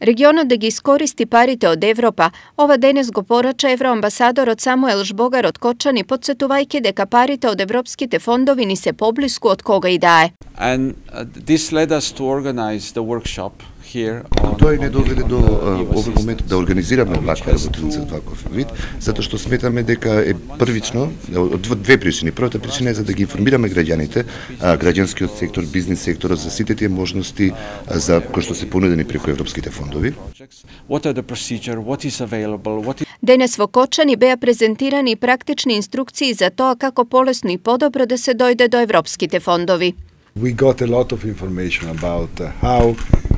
Регионот да ги искористи парите од Европа, ова денес го порача евроамбасадорот Самуел Жбогар од Кочани, потсетувајќи дека парите од европските фондови ни се поблиску од кога и да е. And this led us to organize the workshop. Тој не доведе до овој момент да организираме ваква работилница од ваков вид, затоа што сметаме дека е првично, од две причини. Првата причина е за да ги информираме граѓаните, граѓанскиот сектор, бизнис секторот за сите тие можности за кои што се понудени преку европските фондови. Денес во Кочани беа презентирани практични инструкции за тоа како полесно и подобро да се дојде до европските фондови. We got a lot of information about how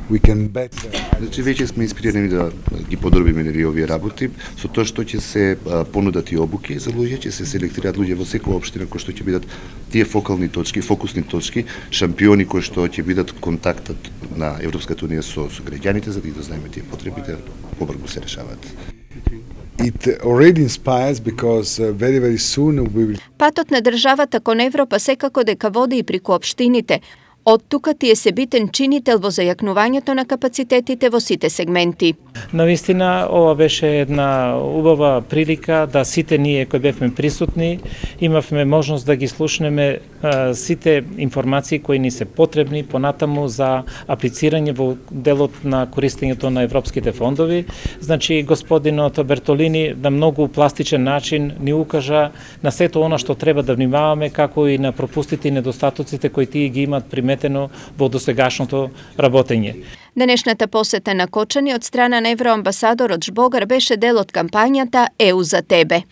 we can better. Значи веќе сме инспирирани да ги подробиме овие работи со тоа што ќе се понудат и обуки за луѓе, ќе се селектираат луѓе во секоја општина кои што ќе бидат тие фокални точки, фокусни точки, шампиони кои што ќе бидат контактот на Европската унија со граѓаните за да ги дознаеме тие потребите, побрзо се решаваат. It already inspires because very soon we will... Патот на државата кон Европа секако дека води и преку општините. Од тука тие се битен чинител во зајакнувањето на капацитетите во сите сегменти. Навистина, ова беше една убава прилика да сите ние кои бевме присутни имавме можност да ги слушнеме сите информации кои ни се потребни понатаму за аплицирање во делот на користењето на европските фондови. Значи, господинот Бертолини на многу пластичен начин ни укажа на сето она што треба да внимаваме, како и на пропустите и недостатоците кои тие ги имаат приметено во досегашното работење. Денешната посета на Кочани од страна на евроамбасадорот Жбогар беше дел од кампањата ЕУ за тебе.